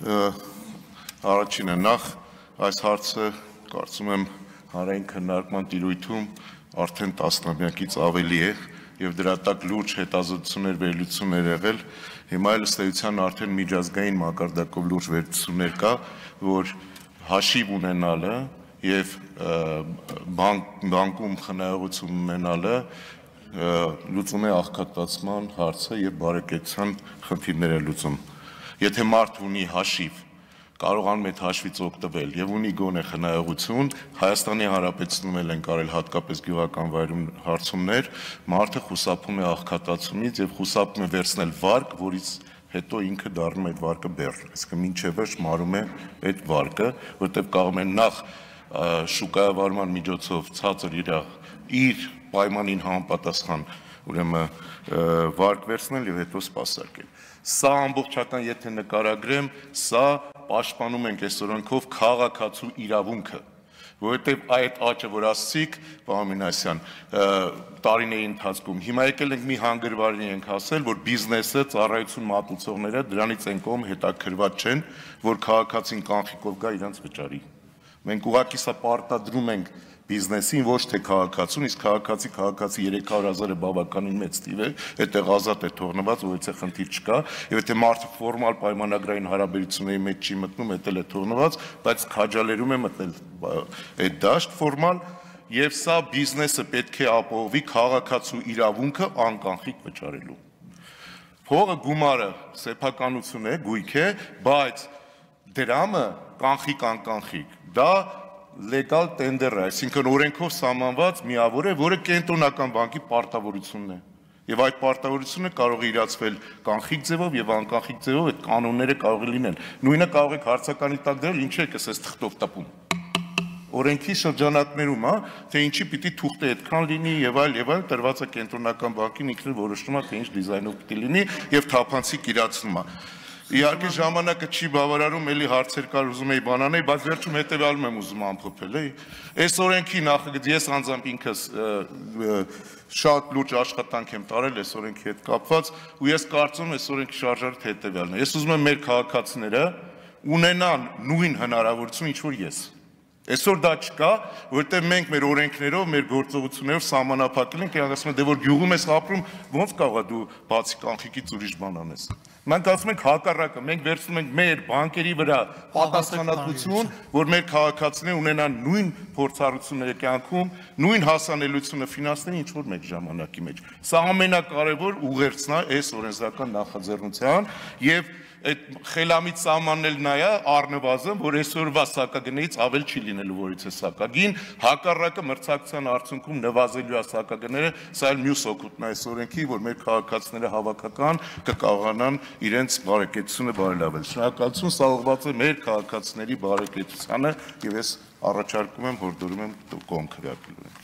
Առաջինը նախ այս հարցը կարծում եմ հանրային քննարկման տիրույթում արդեն տասնամյակից ավելի է եւ դրա տակ լուրջ հետազոտություններ վերլուծություններ եղել, հիմա էլ ըստ էության արդեն միջազգային մակարդակով լուրջ վերլուծություններ կա, որ հաշիվ ունենալը եւ բանկում խնայողություն ունենալը լուծում է աղքատացման հարցը եւ բարեկեցության խնդիրները լուծում։ Եթե մարդ ունի հաշիվ, կարողանում է հաշվից օգտվել եւ ունի գոնե խնայողություն, Հայաստանի Հանրապետությունում էլ են կարել հատկապես գյուղական վայրում հարցումներ, մարդը խուսափում է աղքատացումից եւ խուսափում է վերցնել վարկ, որից հետո ինքը դառնում է այդ վարկը բեռ, այսինքն մինչեւ վերջ մարում է այդ վարկը, որտեղ կարող են նախ շուկայավարման միջոցով ցածր իր պայմանին համապատասխան ուրեմն վարկ վերցնել եւ հետո սպասարկել։ Սա ամբողջական եթե նկարագրեմ, սա պաշտպանում ենք այս օրենքով քաղաքացու իրավունքը, որովհետև այդ աճը, որ ասցիք, պարոն Մինասյան, տարիների ընթացքում, հիմա եկել ենք մի հանգրվարի ենք ասել, որ բիզնեսը, ծառայություն մատուցողները դրանից են կողմ հետաքրված չեն, որ քաղաքացին կանխիկով գա իրանց վճարի։ Մենք ուղղակի սա պարտադրում ենք բիզնեսին, ոչ թե քաղաքացուն, իսկ քաղաքացի 300,000-ը բավականին մեծ թիվ է, այդտեղ ազատ է թողնված, որից խնդիր չկա, եւ եթե մարդը ֆորմալ պայմանագրային հարաբերությունների մեջ չի մտնում, դա էլ է թողնված, բայց քաջալերում է մտնել այդ դաշտ ֆորմալ, եւ սա բիզնեսը պետք է ապահովի քաղաքացու իրավունքը անկանխիկ վճարելու։ Փողը գումարը սեփականություն է, գույք է, բայց դրամը կանխիկ անկանխիկ, դա լեգալ տենդեր է, այսինքն օրենքով սահմանված միավոր է, որը կենտրոնական բանկի պարտավորությունն է։ Եվ այդ պարտավորությունը կարող է իրացվել կանխիկ ձևով եւ անկանխիկ ձևով, այդ կանոնները կարող է լինել։ Նույնը կարող եք հարցականի տակ դրել, ինչ եք ասես թղթով տպում։ Օրենքի շրջանակներում, թե ինչի պիտի թուղթը այդքան լինի եւ այլ տրված է կենտրոնական բանկին ինքն որոշում է, թե ինչ դիզայնով պիտի լինի եւ թափանցիկ իրացնում է։ Իհարկե ժամանակը չի բավարարում, էլի հարցեր կար ուզում էի բանանել, բայց վերջում հետեւյալում եմ ուզում ամփոփել, այս օրենքի նախագծի ես անձամբ ինքս շատ լուրջ աշխատանք եմ տարել այս օրենքի հետ կապված, ու ես կարծում եմ այս օրենքի շարժառիթը հետեւյալն է։ Ես ուզում եմ մեր քաղաքացիները ունենան նույն հնարավորություն, ինչ որ ես։ Այսօր դա չկա, որտեղ մենք մեր օրենքներով, մեր գործողություններով սահմանափակել ենք, եւ ասում են, դե որ գյուղում ես ապրում, ո՞նց կարող է դու բացի կանխիկից ուրիշ բան անես։ Մենք ասում ենք հակառակը, մենք վերցնում ենք մեր բանկերի վրա պատասխանատվություն, որ մեր քաղաքացիները ունենան նույն փորձառությունները կյանքում, նույն հասանելիությունը ֆինանսների ինչ որ մեկ ժամանակի մեջ։ Սա ամենակարևոր ուղերձն է այս օրենսդրական նախաձեռնության եւ այդ խելամիտ սահմանել նա է առնվազն, որ այսօրվա սակագներից ավել չի լինելու, որից է սակագին, հակառակը մրցակցության արդյունքում նվազելու է սակագները, սա էլ մյուս օգուտն է այս օրենքի, որ մեր քաղաքացիները հավաքական կկարողանան իրենց բարեկեցությունը բարելավել։ Շնորհակալություն, սա ուղղված է մեր քաղաքացիների բարեկեցությանը եւ ես առաջարկում եմ, հորդորում եմ կողմ քվեարկելու։